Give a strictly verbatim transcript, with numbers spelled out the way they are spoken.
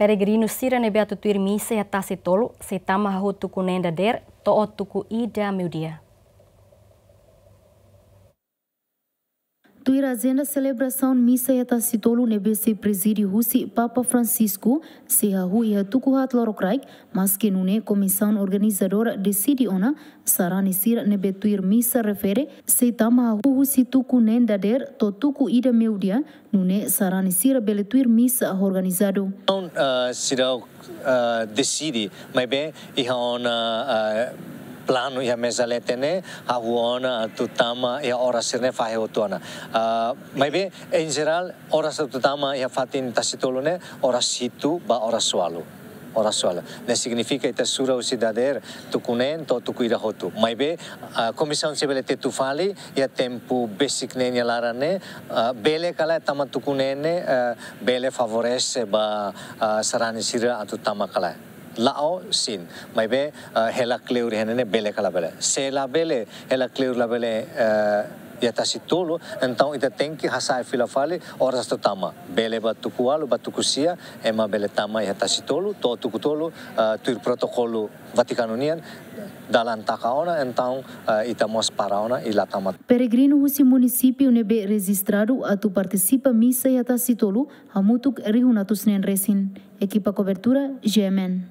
Peregrinu sira ne'ebé atu tuir misa iha Tasitolu sei tama hahú tuku neen dadeer to'o tuku ida meiudia. Tuir ajenda selebrasaun misa iha Tasitolu ne'ebé sei prezide husi Papa Francisco, sei hahú iha tuku haat lorokraik, maske nune'e komisaun organizadora deside ona sarani sira ne'ebé tuir misa refere sei tama hahú husi tuku neen dadeer to'o tuku ida meiudia, nune'e sarani sira bele tuir misa organizadu. Entaun, ah, seidauk, ah, deside, maibé iha ona, ah, planu iha meza leten ne'e, hahú ona atu tama iha oras sira-ne'e fahe hotu ona. Ah, maibé, em geral, oras atu tama iha fatin Tasitolu ne'e, oras hitu ba oras ualu. Oras ualu. Ne'e signifika ita sura husi dadeer tuku neen to'o tuku ida hotu. Maibé, ah, komisaun sei bele tetu fali, iha tempu besik ne'e nia laran ne'e, ah, bele ka lae tama tuku neen ne'e, ah, bele favorese ba, ah, sarani sira atu tama ka lae. La'o sin, maibé, ah, hela kleur iha ne'e ne'e bele ka labele. Se labele, hela kleur labele, ah, iha Tasitolu, entaun ita tenke hasa'e fila fali oras atu tama. Bele ba tuku ualu, ba tuku sia, ema bele tama iha Tasitolu, to'o tuku tolu, ah, tuir protokolu Vatikanu nian, dalan taka ona, entaun, ah, ita mós para ona i la tama. Peregrinu husi munisípiu ne'ebé rejistradu atu partisipa misa iha Tasitolu hamutuk rihun atus neen resin. Ekipa kobertura, G M N.